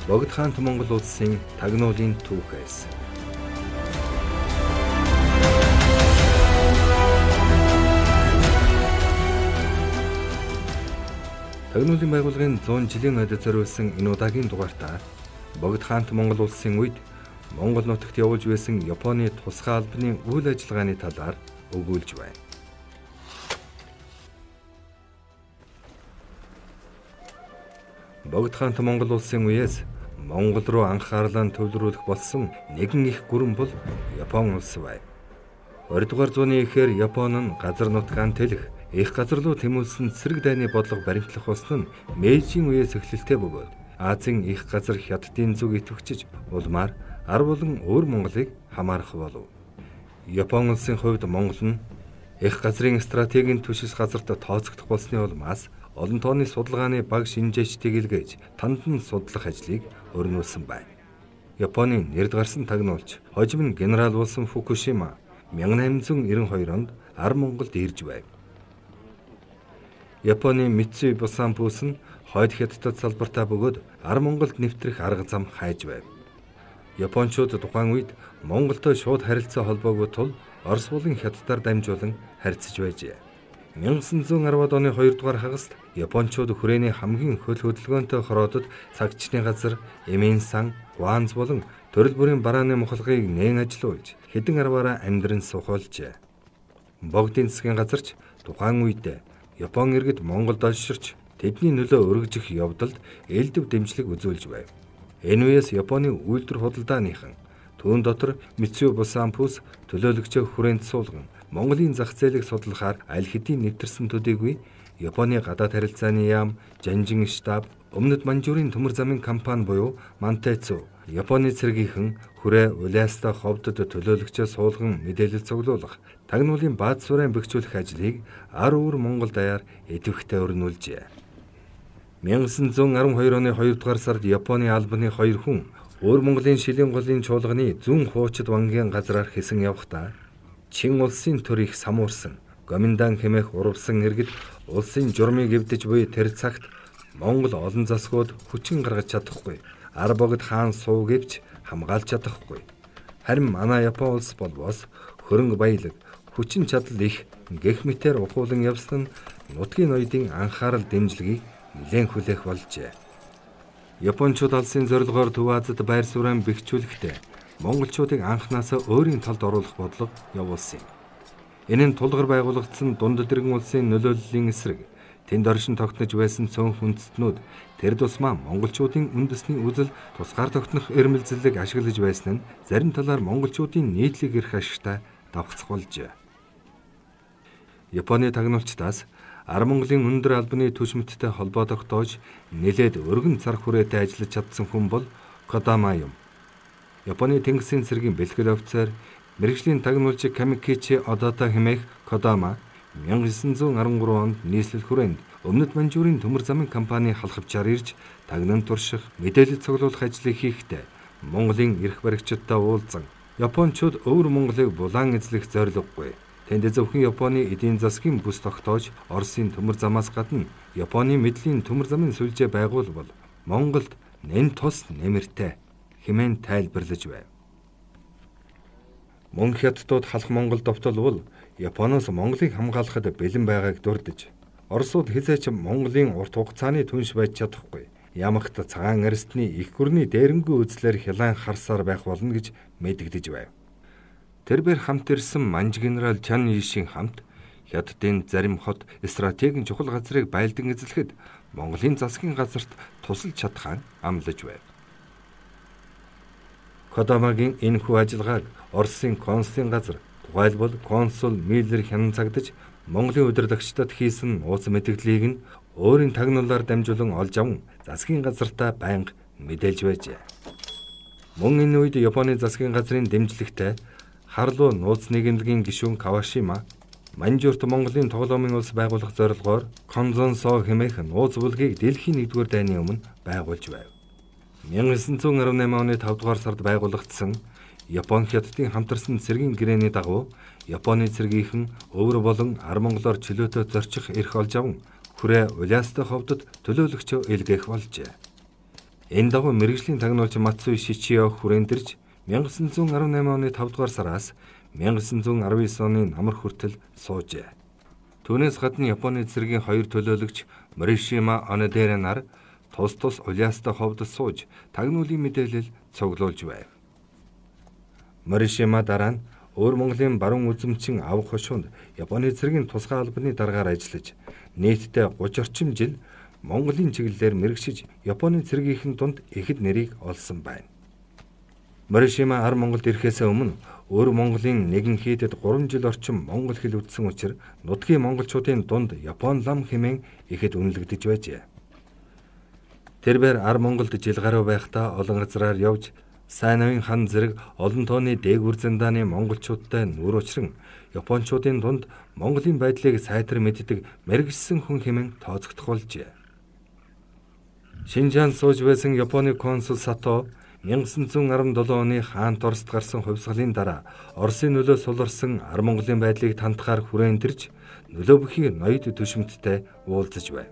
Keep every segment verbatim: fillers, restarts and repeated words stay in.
Богд хаант Монгол улсын тагнуулын түүхээс. Тагнуулын байгууллагын зуун жилийн ойд зориулсан энэ удаагийн дугаартаа Богд хаант Монгол улсын үед Монгол нутагт явуулж байсан Японы тусгай албаны үйл ажиллагааны талаар өгүүлж байна. Богд хаант Монгол улсын үеэс Монгол руу анхаарлаа төвлөрүүлэх болсон нэгэн их гүрэн бол Япон улс бай. хоёрдугаар зууны эхээр Япон нь газар нутгаан тэлэх, их газар руу тэмүүлсэн цэрэг дайны бодлого баримтлах болсон нь Мэйжийн үеэс эхлэлтэй бөгөөд Азийн их газар хятадын зүг идэвхжиж улмаар ар болон өөр Монголыг хамаарах болов. Япон улсын хувьд Монгол нь их газрын стратегийн түшис газарт тооцогдох болсны улмаас олон тооны судалгааны баг шинжээчдийг илгээж тандан судлах ажлыг өрнүүлсэн байна. Японы нэрд гарсан тагнуулч хожим нь генерал болсон Фукушима мянга найман девяносто хоёр онд ар Монголд ирж байв. Японы Митсуи Бусан бүс нь хойд хятадд салбартаа бөгөөд ар Монголд нэвтрэх арга зам хайж байв. Япончууд тухайн үед Монголтой шууд харилцаа холбоогүй тул Орос болон Хятадаар дамжуулан харьцаж байжээ. мянга девятьсот десять оны хоёрдугаар хагаст Япончууд хүрээний хамгийн хөл хөдөлгөөнтэй хороодод цагчны газар Эмин-сан, Гуанз болон төрөл бүрийн барааны мухалгыг нээн ажилуулж хэдэн арваараа амьдран сухуулжээ. Богдын засгийн газарч тухайн үед Япон иргэд Монголд олширч тэдний нөлөө өргөжих явдалд элдв дэмжлэг үзүүлж байв. Энэ үеэс Японы үйлдвэр худалдааныхан түүн дотор Митсуи Бусан бүс төлөөлөгчөө хүрээнд суулган Монголын зах зээлийг судлахаар аль хэдийн нэвтэрсэн төдийгүй Японы гадаад харилцааны яам, Жанжин штаб, Өмнөд Манжуурын төмөр замын компани буюу Мантайцу, Японы цэргийнхэн хүрээ Уляаста ховдод төлөөлөгчөө суулган мэдээлэл цуглуулах, тагнуулын бааз сурайн бэхжүүлэх ажлыг ар өөр Монгол даяар идэвхтэй өрнүүлжээ. мянга девятьсот десять хоёр оны хоёрдугаар сард Японы албаны хоёр хүн өөр Монголын шилийн голын чуулганы зүүн хуучид вангийн газраар хэсэн явхдаа Чин улсын төр их самуурсан, гоминдан хэмээх урвсан иргэд улсын журмыг эвдэж буй тэр цагт Монгол олон засгууд хүчин гаргаж чадахгүй, ар богд хаан суу гэвч хамгаалж чадахгүй. Харин манай Япон улс болбоос хөрөнгө баялаг, хүчин чадал их гэх мэтээр ухуулан явсан нь нутгийн ноёдын анхаарал дэмжлэгийг нэлээн хүлээх болжээ. Япончууд алсын зорилгоор Төв Азид байр суурин бэхжүүлэхдээ монголчуудыг анхнаасаа өөрийн талд оруулах бодлого явуулсан юм. Энэ нь тулгар байгуулагдсан дунд дэргэн улсын нөлөөллийн эсрэг тэнд оршин тогтнож байсан цөөн хүндэстнүүд тэр тусмаа монголчуудын үндэсний үзэл тусгаар тогтнох эрмэлзлийг ашиглаж байсан нь зарим талаар монголчуудын нийтлэг эрх ашигтай давхцах болжээ. Японы тагнуулчдаас ар Монголын өндөр албаны түшмэттэй холбоо тогтоож нэлээд өргөн цар хүрээтэй ажиллаж чадсан хүн бол Кодама юм. Японы тэнгисийн цэргийн бэлтгэл офицер, мэргэжлийн тагнуулч Камикичи Одата хэмээх Кодама мянга девятьсот десять три онд нийслэл хүрээнд Өмнөд Манжуурын төмөр замын компани халахвчаар ирж тагнан турших, мэдээлэл цуглуулах ажлыг хийхдээ Монголын эрх баригчдтай уулзсан. Япончууд өвөр Монголыг булаан эзлэх зорилгогүй. Тэнд зөвхөн Японы эдийн засгийн бүс тогтоож Оросын төмөр замаас гадна Японы мэдлийн төмөр замын сүлжээ байгуулбал Монголд нэн тус нэмэртэй хэмээн тайлбарлаж байв. Мөн хятадууд халах Монгол довтолвол Японоос Монголыг хамгаалахад бэлэн байгааг дурдж, Оросууд хизээч Монголын урт хугацааны түнш байж чадахгүй. Ямагт цагаан арстны их гүрний дээрэнгүү үзлэр хялайн харсаар байх болно гэж мэдэгдэж байв. Тэрбээр хамт ирсэн манж генерал Чан Ийшийн хамт хятадын зарим хот стратегийн чухал газрыг байлдан эзлэхэд Монголын засгийн газарт тусалж чадхаа амлаж байв. Кодамагийн энэхүү ажиллагааг Оросын консулын газар, тухайлбал консул Миллер хянан цагдаж Монголын удирдагчдад хийсэн ууц мэдээллийг нь өөрийн тагнуулаар дамжуулан олж аван засгийн газартаа байнга мэдээлж байжээ. Мөн энэ үед Японы засгийн газрын дэмжлэгтэй Харлуу нууц нийгэмлэгийн гишүүн Кавашима Манжуурт Монголын тоглоомын улс байгуулах зорилгоор Конзонсо хэмээх нууц бүлгийг дэлхийн нэгдүгээр дайны өмнө байгуулж байв. мянга девятьсот арван найман оны тавдугаар сард байгуулагдсан Япон хятадын хамтарсан цэргийн гэрээний дагуу Японы цэргийнхэн өвөр болон ар Монголоор чөлөөтэй зорчих эрх олж аван хүрээ Уляаста ховдод төлөөлөгчөө илгээх болжээ. Энэ дагуу мэргэжлийн тагнуулч Мацуи Шичио хүрэндэрж 천구 арван tám оны тавд дугаар сараас 천구 арван девять оны намар хүртэл суужээ. Түүнээс гадна Японы цэргийн хоёр төлөөлөгч Моришима Онодера нар тус тус улаастай ховд сууж тагнуулын мэдээлэл цуглуулж байв. Моришима дараа нь Өөр Монголын баруун үзэмчин авах хошуунд Японы цэргийн тусгай албаны даргаар ажиллаж нийтдээ гуч орчим жил Монголын чиглэлээр мэрэгшиж Японы цэргийнхэн дунд ихэд нэрийг олсон байна. Моришима ар Монголд ирэхээс өмнө Өөр Монголын нэгэн хийдэд гурван жил орчим монгол хэл үздсэн учраас нутгийн монголчуудын дунд Япон лам хэмээн ихэд үнэлэгдэж байжээ. Тэрбээр ар Монголд жил гаруй байхдаа олон газраар явж сайн навын хан зэрэг олон тооны дээгүр зандааны монголчуудтай нүүр учран Япончуудын дунд Монголын байдлыг сайтар мэддэг мэргэжсэн хүн хэмээн тооцогдох болжээ. Шинжаан сууж байсан Японы консул Сато 천구 арван долоо оны хаант Оросд гарсан хувьсгалын дараа Оросын нөлөө суларсан ар Монголын байдлыг тантахаар хүрээнтэрж нөлөө бүхий ноёд төшөмттэй уулзаж байв.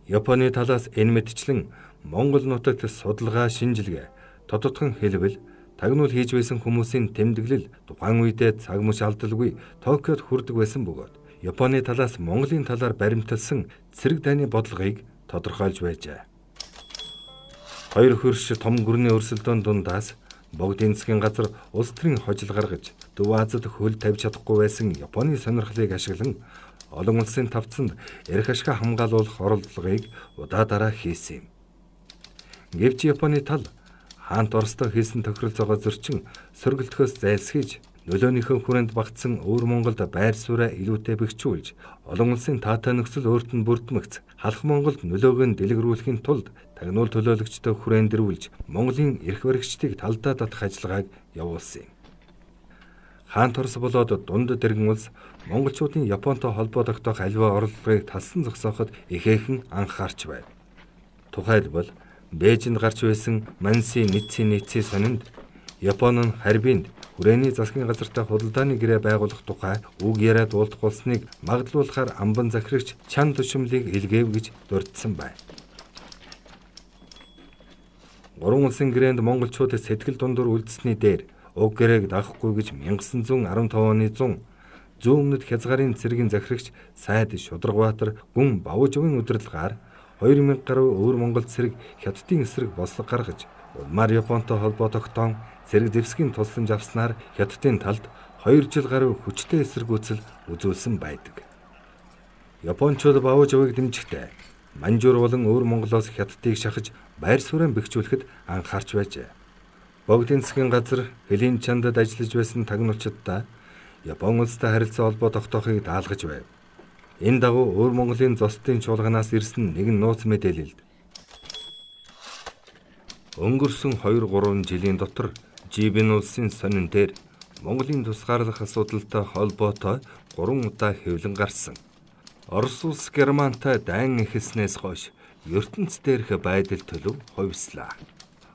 Японы талаас энэ мэтчлэн Монгол нутагт судалгаа шинжилгээ, тодотгон хэлбэл, тагнуул хийж байсан хүмүүсийн тэмдэглэл тухайн үедээ цаг мөч алдалгүй Токиод хүрдэг байсан бөгөөд Японы талаас Монголын талаар баримталсан цэрэг дайны бодлогыг тодорхойлж байжээ. Хоёр хөрш том гүрний өрсөлдөөн дундаас Богдын засгийн газар улс төрийн хожил гаргаж Төв Азид хөл тавьж чадахгүй байсан Японы сонирхлыг ашиглан олон улсын тавцанд эрх ашгаа хамгаалуулах оролдлогыг удаа дараа хийсэн юм. Гэвч Японы тал хаант Оростой хийсэн тохиролцоогоо зөрчин сөргөлтөхөөс зайлсхийж нөлөөнийхөө хүрээнд багтсан Өөр Монголд байр сууриа илүүтэй бэхжүүлж олон улсын таатай нөхцөл өөрт нь бүрдмэгц халах Монголд нөлөөгөө дэлгэрүүлэхийн тулд тагнуул төлөөлөгчдөө хүрээндрүүлж Монголын эрх баригчдыг талдаа татах ажиллагааг явуулсан юм. Хаант Орос болоод дунд дэргэн улс монголчуудын Японтой холбоо тогтоох аливаа орлогыг талсан зогсооход ихээхэн анхаарч байв. Тухайлбал Бээжинд гарч байсан Манси Ницци Ницци сонинд Япон нь Харбинд хүрээний засгийн газартай худалдааны гэрээ байгуулах тухай үг яриад уулзахулсныг магадлуулахаар амбан захирагч Чан Тушимлыг илгээв гэж дурдсан байна. Гурван улсын гэрээнд монголчууд сэтгэл дундуур үлдсэний дээр уг гэрээг дагахгүй гэж 천구 арван таван оны зун зүүн өмнөд Хязгарын цэргийн захирагч Сайд Шударгабаатар гүн Бавжовын удирдлагаар хоёр мянга гаруй Өөр Монгол цэрэг Хятадын эсрэг бослог гаргаж улмаар Японтой холбоо тогтоон цэрэг зэвсгийн тусламж авснаар Хятадын талд хоёр жил гаруй хүчтэй эсэргүүцэл үзүүлсэн байдаг. Япончууд Бавжовыг дэмжихдээ Манжуур болон Өөр Монголоос Хятадыг шахаж байр суурийг бэхжүүлэхэд анхаарч байжээ. Богдын засгийн газар Хөлийн чандад ажиллаж байсан тагнуулчдаа Япон улстай харилцаа холбоо тогтоохыг даалгаж байв. Энэ дагуу Өөр Монголын зостын чуулганаас ирсэн нэгэн нууц мэдээлэлд өнгөрсөн хоёр гурван жилийн дотор Жибин улсын сонин дээр Монголын тусгаарлах асуудалтай холбоотой гурван удаа хэвлэн гарсан. Орос улс Германтай дайн эхэлснээс хойш ертөнц дээрх байдал төлөв хувьслаа.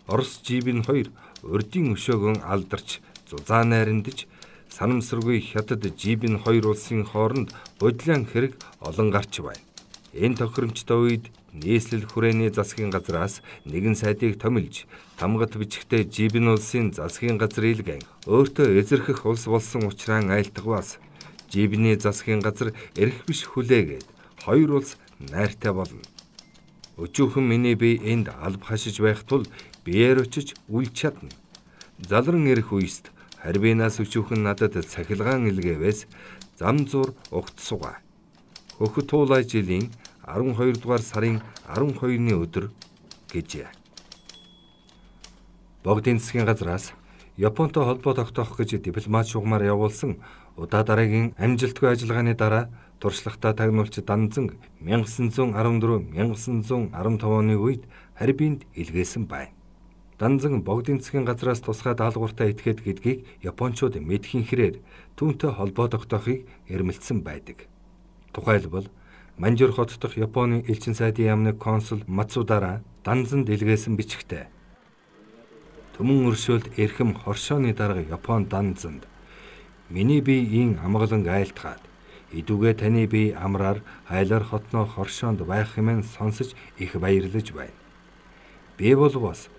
Орос Жибин хоёр урдын өшөөгөн алдарч зузаан найрандж санамсаргүй Хятад Жибин хоёр улсын хооронд бодлон хэрэг олон гарч байна. Энэ тохиромжтой үед нийслэл хүрээний засгийн газраас нэгэн сайдыг томилж тамгат бичгтээ Жибин улсын засгийн газар илгэн өөртөө эзэрхэх улс болсон учраас айлтгаваас Жибиний засгийн газар эрх биш хүлээгээд хоёр улс найртай болно. Өчүүхэн миний бие энд алба хашиж байх тул биеэр очиж үл чадна. Залран ирэх үест Харбинаас өчүүхэн надад цахилгаан илгээвээс зам зур угт сугаа. Хөхөт туулай жилийн арван хоёр дугаар сарын арван хоёрны өдөр гэжээ. Богдын засгийн газраас Японтой холбоо тогтоох гэж дипломат шугамар явуулсан удаа дараагийн амжилтгүй ажиллагааны дараа туршлагатай тагнуулч Данзанг 천구 арван дөрөв 천구 арван таван оны үед Харбинд илгээсэн байна. Данзанг Богдын засгийн газраас тусгай даалгавартай этгээд гэдгийг Япончууд мэдхийн хэрээр түүнтэй холбоо тогтоохыг эрмэлзсэн байдаг. Тухайлбал Манжуур хот дахь Японы элчин сайдын яамны консул Мацудара Данзанд илгээсэн бичгтээ Төмөн өршөөлт эрхэм хоршооны дарга Япон Данзанд миний бие ин амгалан айлтгаад идүүгээ таны бие амраар хайлаар хотноо хоршоонд байх хэмээн сонсож их баярлаж байна. Би бол бас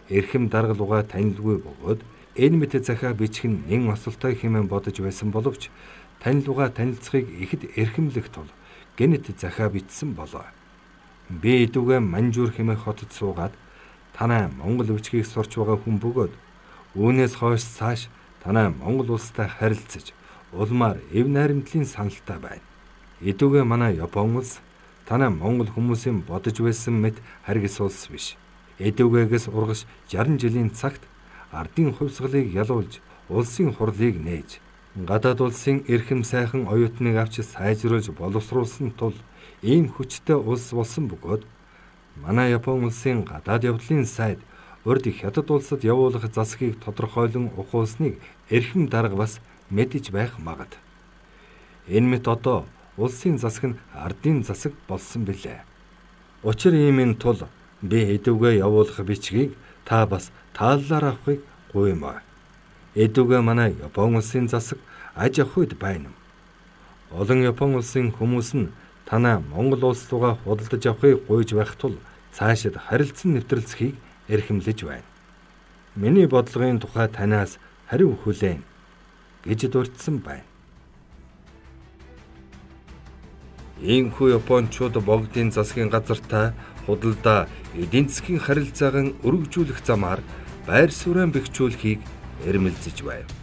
эрхэм дарга луга танилгүй бөгөөд энэ мэт захаа бичих нь нэн осолтой хэмээн бодож байсан боловч тань луга танилцахыг ихэд эрхэмлэх тул гэнэт захаа бичсэн болоо. Би идүүгээ Манжуур хэмээх хотод суугаад танай Монгол өвчгийг сурч байгаа хүн бөгөөд үүнээс хойш цааш танай Монгол улстай харилцаж улмаар эв найрамдлын саналтай байна. Идүүгээ манай Япон улс танай Монгол хүмүүсийн бодож байсан мэт харгас улс биш. Идүүгээгээс ургаш шаран жилийн цагт ардын хувьсгалыг ялуулж улсын хурлыг нээж гадаад улсын эрхэм сайхан оюутныг авч сайжруулж боловсруулсан тул ийм хүчтэй улс болсон бөгөөд манай Япон улсын гадаад явдлын сайд урд хятад улсад явуулах засгийг тодорхойлон ухуулсныг эрхэм дарга бас мэдэж байх магад. Энэ мэт одоо улсын засаг нь ардын засаг болсон билээ. Учир иймийн тул би идүүгээ явуулах бичгийг та бас тааллаар авахыг гуймаа. Идүүгээ манай Япон улсын засаг аж ахуйд байна. Олон Япон улсын хүмүүс нь танай Монгол улс руугаа худалдаж авахыг гуйж байх тул цаашид харилцан нэвтрэлцэхийг эрхэмлэж байна. Миний бодлогын тухай танаас хариу хүлээн гэж дурдсан байна. Иймхүү Япончууд богдын засгийн газартаа худалдаа эдийн засгийн харилцаагаа өргөжүүлэх замаар байр суурин бэхжүүлэхийг эрмэлзэж байна.